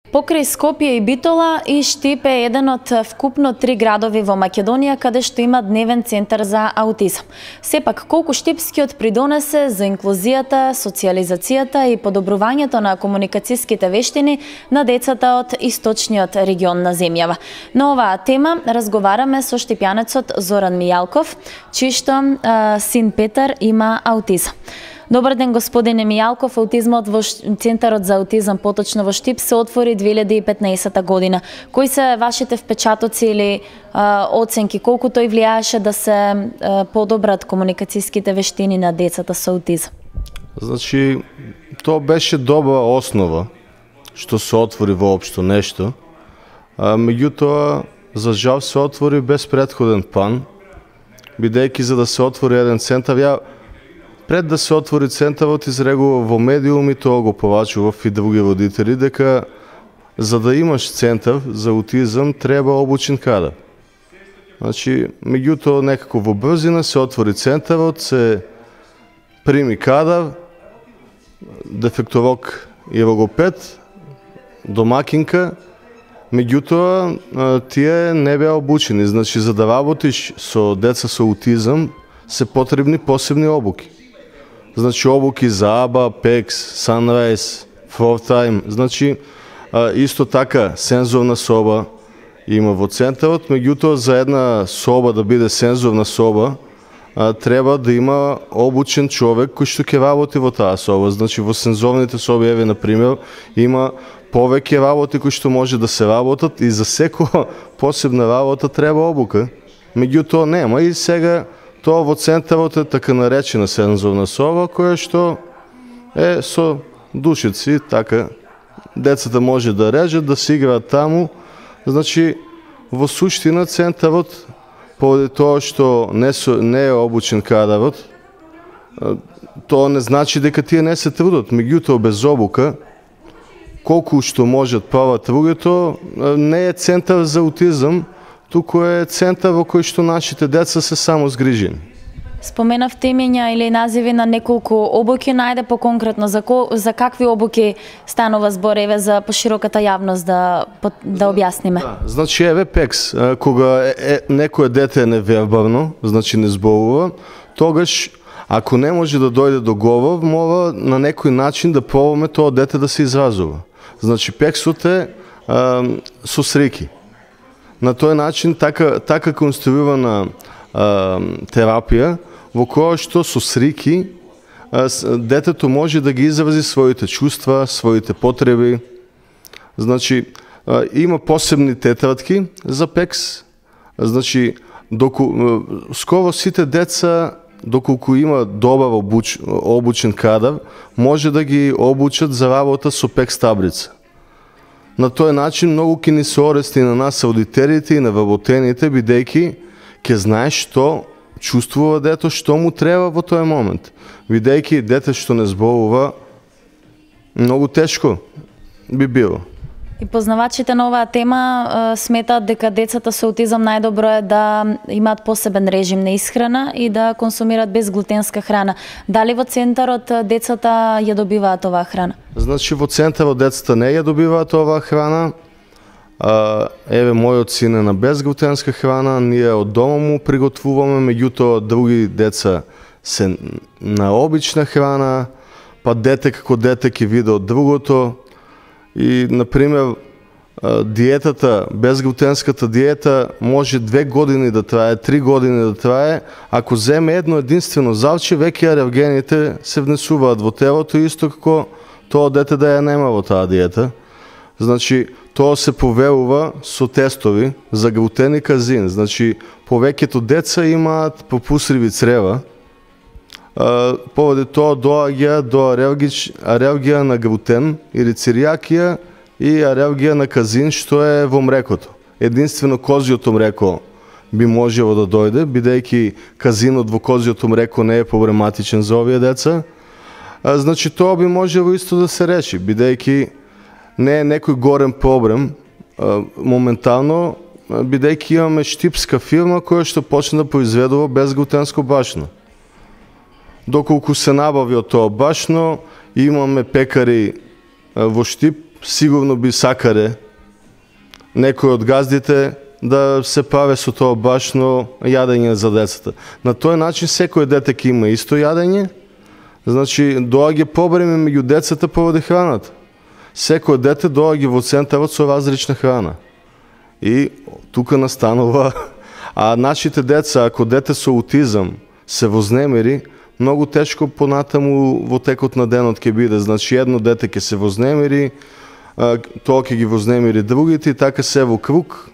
Покрај Скопје и Битола и Штип е еден од вкупно 3 градови во Македонија каде што има дневен центар за аутизам. Сепак, колку Штипскиот придонесе за инклузијата, социјализацијата и подобрувањето на комуникацијските вештини на децата од источниот регион на земјава. На оваа тема разговараме со штипјанецот Зоран Мијалков, чиј што син Петар има аутизам. Добар ден, господине Мијалков. Аутизмот во Центарот за аутизам поточно во Штип се отвори 2015 година. Кои се вашите впечатоци или оценки? Колку тој влијаеше да се подобрат комуникацијските вештини на децата со аутизам? Значи, тоа беше добра основа што се отвори воопшто нешто. Меѓутоа, за жал се отвори без претходен план, бидејќи за да се отвори еден центар, пред да се отвори центарот изрегува во медиуми, тоа го повачував и други родители, дека за да имаш центар за аутизам треба обучен кадар. Значи, меѓутоа некако во брзина се отвори центарот, се прими кадар, дефектолог и логопед, домакинка, меѓутоа тие не беа обучени. Значи, за да работиш со деца со аутизам се потребни посебни обуки. Значи, обуки за АБА, PEX, Sunrise, FloorTime. Значи, исто така сензорна соба има во центарот, меѓутоа за една соба да биде сензорна соба, треба да има обучен човек кој што ќе работи во таа соба. Значи, во сензорните соби, еве, например, има повеќе работи кои што може да се работат и за секоја посебна работа треба обука. Меѓутоа нема и сега тоа во центарот е така наречена сензорна соба, која што е со душици, така, децата може да режат, да се играат таму. Значи, во суштина центарот, поради тоа што не е обучен кадарот, тоа не значи дека тие не се трудат. Меѓутоа, без обука, колку што можат прават другото, не е центар за аутизам, туку е центар во кој што нашите деца се само згрижени. Споменавте имења или називи на неколку обуки, најде поконкретно за какви обуки станува збор, еве за пошироката јавност да објасниме. Да, значи, еве PEX, кога некое дете е невербално, значи не зборува, тогаш ако не може да дојде до говор, мора на некој начин да пробаме тоа дете да се изразува. Значи, PEX-от е со срики. На тој начин така конструирана терапија во која што со срики детето може да ги изрази своите чувства, своите потреби. Значи, има посебни тетрадки за PEX. Значи, скоро сите деца, доколку има добар обучен кадар, може да ги обучат за работа со PEX таблица. На тој начин многу ќе ни се орести на нас аудитерите и на вработените, бидејќи ќе знаеш што чувствува дето, што му треба во тој момент. Бидејќи дете што не зборува, многу тешко би било. И познавачите на оваа тема сметаат дека децата со аутизам најдобро е да имаат посебен режим на исхрана и да консумираат безглутенска храна. Дали во центарот децата ја добиваат оваа храна? Значи, во центарот децата не ја добиваат оваа храна. Еве, мојот син е на безглутенска храна, ние од дома му приготвуваме, меѓутоа други деца се на обична храна, па дете како дете ќе види од другото. И, например, диетата, безглутенската диета може 2 години да трае, 3 години да трае. Ако земе едно единствено залче, веќе алергените се внесуваат во телото, исто како тоа дете да ја нема во таа диета. Значи, тоа се проверува со тестови за глутен и казин. Значи, повеќето деца имаат пропусливи црева. Поради тоа доаѓа до алергија на глутен или церијакија и алергија на казин, што е во млекото. Единствено козјото млеко би можело да дојде, бидејќи казинот во козјото млеко не е проблематичен за овие деца. Значи, тоа би можело исто да се реши, бидејќи не е некој горен проблем моментално, бидејќи имаме штипска фирма која што почна да произведува безглутенско башно. Доколку се набави од тоа башно, имаме пекари во Штип сигурно би сакале некои од газдите да се прави со тоа башно јадење за децата. На тој начин секој дете ќе има исто јадење, значи доаѓа побреме меѓу децата поради храната. Секој дете доаѓа во центарот со различна храна. И тука настанува, а нашите деца, ако дете со аутизам се вознемири, многу тешко понатаму во текот на денот ќе биде. Значи едно дете ќе се вознемири, тоа ќе ги вознемири другите и така се во круг.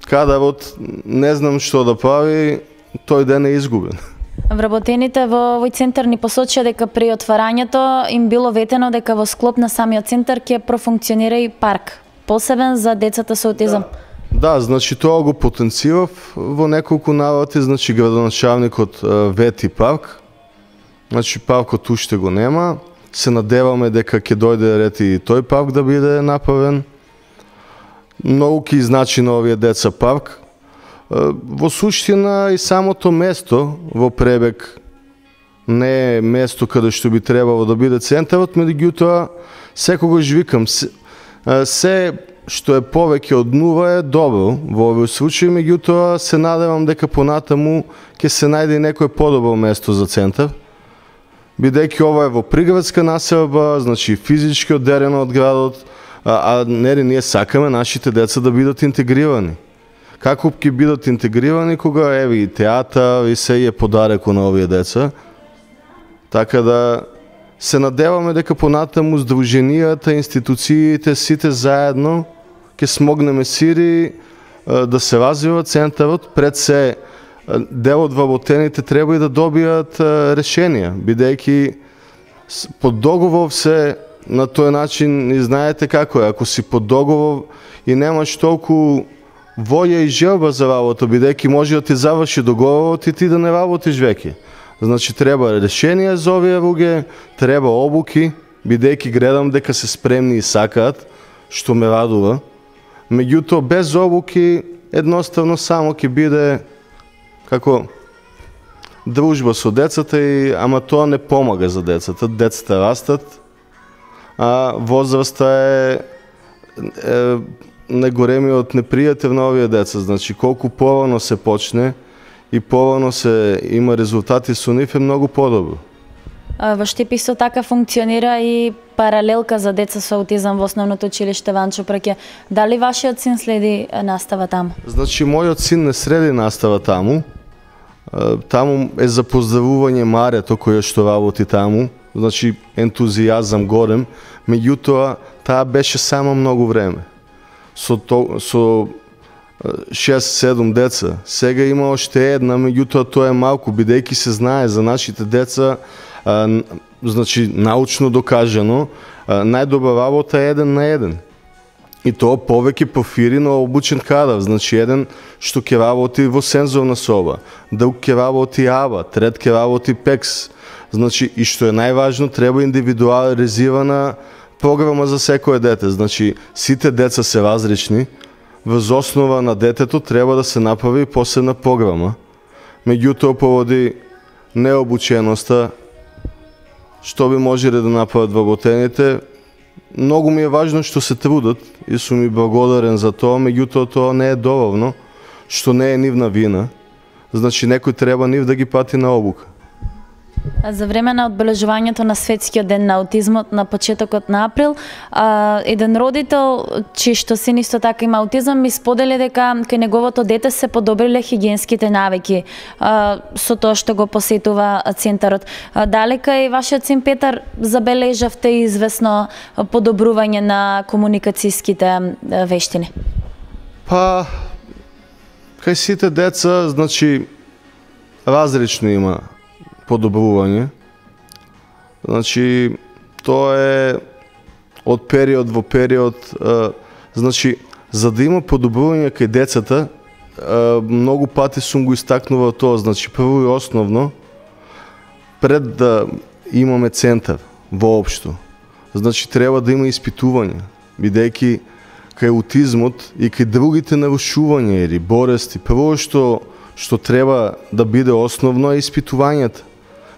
Кадарот не знам што да прави, тој ден е изгубен. Вработените во овој центар ни посочија дека при отварањето им било ветено дека во склоп на самиот центар ќе профункционира и парк, посебен за децата со аутизам. Да, значи тоа го потенцирав во неколку наврати, значи градоначалникот вети парк. Значи паркот уште го нема. Се надеваме дека ќе дојде ред и тој парк да биде направен. Многу ќе значи на овие деца парк. Во суштина и самото место во Пребег не е место каде што би требало да биде центарот, меѓутоа секогаш викам се што е повеќе од нула е добро во овој случај, меѓутоа се надевам дека понатаму ќе се најде и некој подобро место за центар, бидејќи ова е во приградска населба, значи физички одделено од градот, а нели ние сакаме нашите деца да бидат интегрирани. Како ќе бидат интегрирани кога еве и театар и се е подареко на овие деца. Така да се надеваме дека понатаму здруженијата, институциите, сите заедно ќе смогнеме сири да се развива центарот. Пред се дел од вработените треба и да добијат решенија, бидејќи под договор се на тој начин и знаете како е, ако си под договор и немаш толку волја и желба за работа, бидејќи може да ти заврши договорот и ти да не работиш веќе. Значи треба решенија за овие луѓе, треба обуки, бидејќи гледам дека се спремни и сакаат, што ме радува. Меѓутоа без обуки едноставно само ќе биде како дружба со децата и ама тоа не помага за децата. Децата растат, а возраста е најголемиот непријател на овие деца. Значи колку порано се почне и порано се има резултати со нив е многу подобро. Во Штип исто така функционира и паралелка за деца со аутизам во основното училиште Ванчо Праќе. Дали вашиот син следи настава таму? Значи мојот син не следи настава таму. Таму е за поздравување Марето која што работи таму. Значи ентузијазам горем, меѓутоа таа беше само многу време. Со 6-7 деца. Сега има уште една, меѓутоа тоа е малку, бидејќи се знае за нашите деца, значи научно докажано, најдобра работа е 1 на 1. И тоа повеќе профири на обучен кадар, значи еден што ќе работи во сензорна соба, друг ќе работи АБА, трет ќе работи ПЕКС. Значи и што е најважно, треба индивидуализирана програма за секое дете. Значи сите деца се различни. Врз основа на детето треба да се направи посебна програма. Меѓутоа поради необученоста што би можеле да направат вработените, многу ми е важно што се трудат и сум ми благодарен за тоа, меѓутоа тоа не е доволно, што не е нивна вина. Значи некој треба нив да ги пати на обука. За време на одбележувањето на Светскиот ден на аутизмот на почетокот на април, еден родител, чиј што син исто така има аутизам, ми сподели дека кај неговото дете се подобриле хигиенските навики со тоа што го посетува центарот. Дали кај вашиот син Петар забележавте известно подобрување на комуникацијските вештини? Па, кај сите деца, значи, различно има подобрување. Значи, тоа е од период во период. Значи, за да има подобрување кај децата, многу пати сум го истакнувал тоа. Значи, прво и основно, пред да имаме центар воопшто, значи, треба да има испитување, бидејќи кај аутизмот и кај другите нарушувања или болести, прво што треба да биде основно е испитувањата.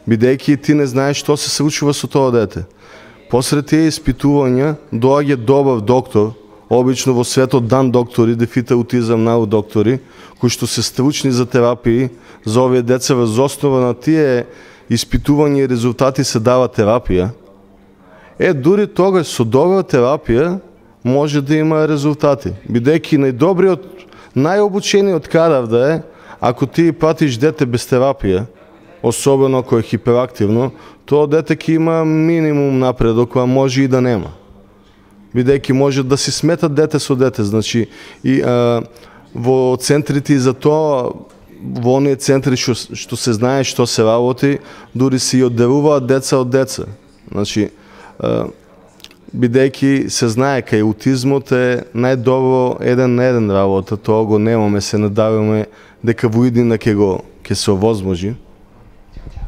Бидејќи ти не знаеш што се случува со тоа дете. Посред тие испитувања доаѓа добав доктор, обично во светот дан доктори, дефите аутизам нау доктори, кои што се стручни за терапии за овие деца, врз основа на тие испитувања и резултати се дава терапија. Дури тогаш со добра терапија може да има резултати. Бидејќи најдобриот, најобучениот кадар да е, ако ти пратиш дете без терапија, особено ако е хиперактивно, тоа дете ќе има минимум напредок, а може и да нема. Бидејќи може да си сметат дете со дете, значи и во центрите и за тоа, во оние центри што се знае што се работи, дури се и одделуваат деца од деца. Значи, бидејќи се знае кај аутизмот е најдобро еден на еден работа, тоа го немаме, се надаваме дека во иднина ќе се овозможи.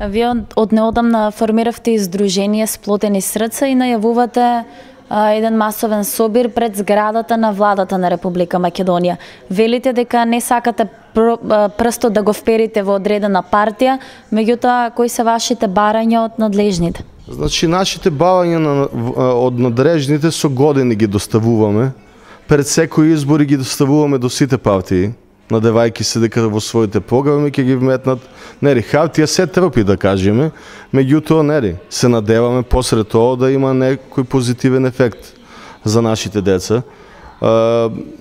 Вие од неодамна формиравте издружение Сплотени срца и најавувате еден масовен собир пред зградата на владата на Република Македонија. Велите дека не сакате прсто да го вперите во одредена партија, меѓутоа кои се вашите барања од надлежните? Значи, нашите барања од надлежните со години ги доставуваме. Пред секои избори ги доставуваме до сите партии, надевајќи се дека во своите програми ќе ги вметнат. Нели, хартија се трпи, да кажеме, меѓутоа, нели, се надеваме посред тоа да има некој позитивен ефект за нашите деца.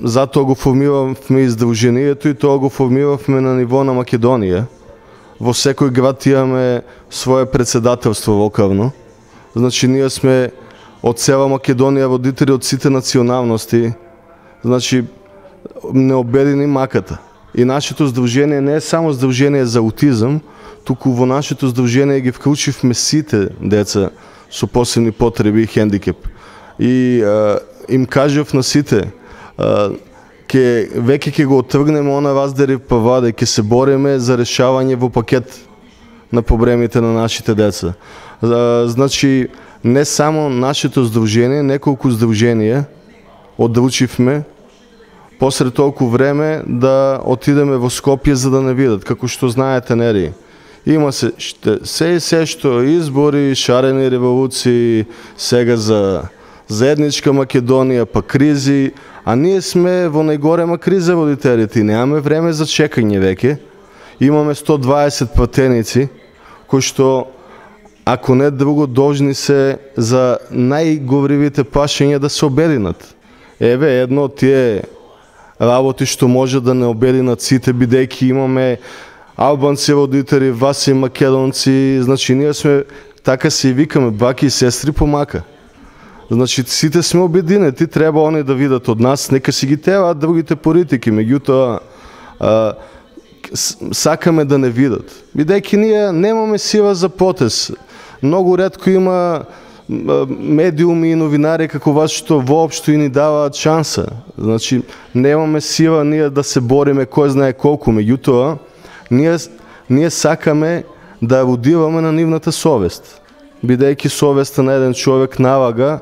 Затоа го формиравме издружението и тоа го формиравме на ниво на Македонија. Во секој град имаме свое председателство локално. Значи, ние сме од цела Македонија родители од сите националности. Значи, не обедини маката. И нашето здружение не е само здружение за аутизам, туку во нашето здружение ги вклучивме сите деца со посебни потреби и хендикеп. И им кажав на сите, веќе ќе го отргнеме она раздери права, ќе се бориме за решавање во пакет на проблемите на нашите деца. Значи, не само нашето здружение, неколку здруженија одручивме посред толку време да отидеме во Скопје за да не видат. Како што знаете, нели, има се се што избори, шарени револуции, сега за заедничка Македонија, па кризи, а ние сме во најголема криза родителите и немаме време за чекање веќе. Имаме 120 пратеници, кои што, ако не друго, должни се за најговривите прашања да се обединат. Еве, едно од тие работи што може да не обединат сите, бидејќи имаме албанци родители, васи македонци, значи ние сме, така се и викаме, баки и сестри по мака. Значи сите сме обединети, треба они да видат од нас, нека си ги тераат другите политики, меѓутоа сакаме да не видат. Бидејќи ние немаме сила за протест. Многу ретко има медиуми и новинари како вас што воопшто и ни даваат шанса. Значи, немаме сила ние да се бориме кој знае колку, меѓутоа ние сакаме да родиваме на нивната совест. Бидејќи совеста на еден човек налага,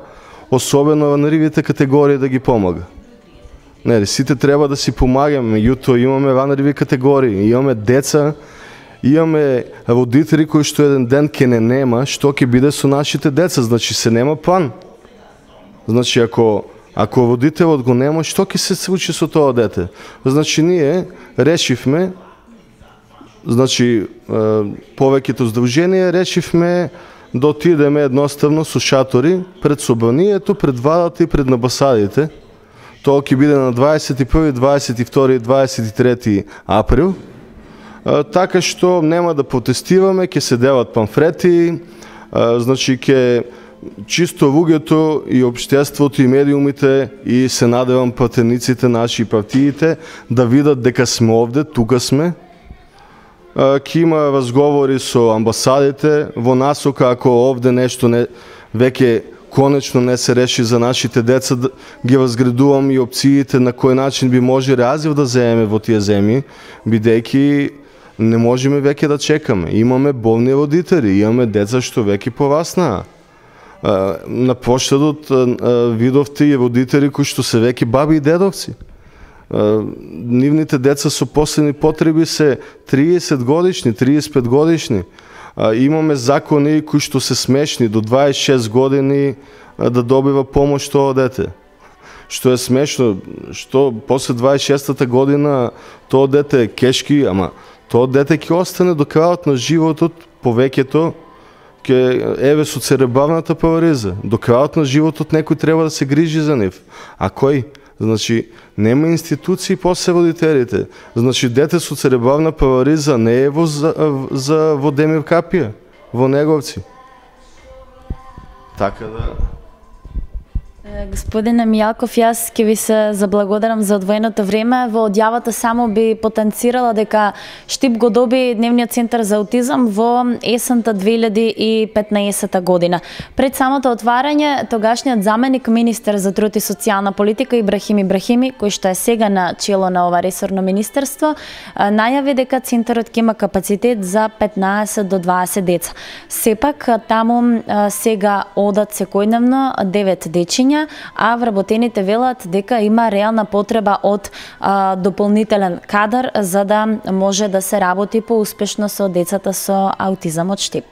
особено на ривите категории, да ги помага. Нели, сите треба да си помагаме, меѓутоа имаме ранливи категории, имаме деца, имаме родители кои што еден ден ќе не нема, што ќе биде со нашите деца, значи се нема план. Значи ако родителот го нема, што ќе се случи со тоа дете? Значи ние решивме, значи повеќето здруженија решивме да отидеме едноставно со шатори пред собранието, пред владата и пред амбасадите. Тоа ќе биде на 21, 22 и 23 април. Така што нема да протестираме, ќе се делат памфлети, значи ќе чисто луѓето и општеството и медиумите и се надевам пратениците наши и партиите да видат дека сме овде, тука сме. Ќе има разговори со амбасадите во насока ако овде нешто веќе конечно не се реши за нашите деца, ги разградувам и опциите на кој начин би може разив да земеме во тие земји, бидејќи не можеме веќе да чекаме. Имаме болни родители, имаме деца што веќе пораснаа. На поштадот видовте и родители кои што се веќе баби и дедовци. Нивните деца со посебни потреби се 30 годишни, 35 годишни. Имаме закони кои што се смешни, до 26 години да добива помош тоа дете. Што е смешно, што после 26-та година тоа дете е кешки, ама тоа дете ќе остане до крајот на животот, повеќето, еве со церебралната парализа. До крајот на животот некој треба да се грижи за нив. А кој? Значи, нема институции после родителите. Значи, дете со церебрална парализа не е во Демир Капија, во Неговци. Така да... Господине Мијалков, јас ќе ви се заблагодарам за одвоеното време. Во одјавата само би потенцирала дека Штип го доби Дневниот центар за аутизам во есента 2015 година. Пред самото отварање, тогашниот заменик министер за труд и социјална политика Ибрахим Ибрахими, кој што е сега на чело на ова ресорно министерство, најави дека центарот ќе има капацитет за 15 до 20 деца. Сепак, таму сега одат секојдневно 9 дечиња, а вработените велат дека има реална потреба од дополнителен кадар за да може да се работи поуспешно со децата со аутизам од Штип.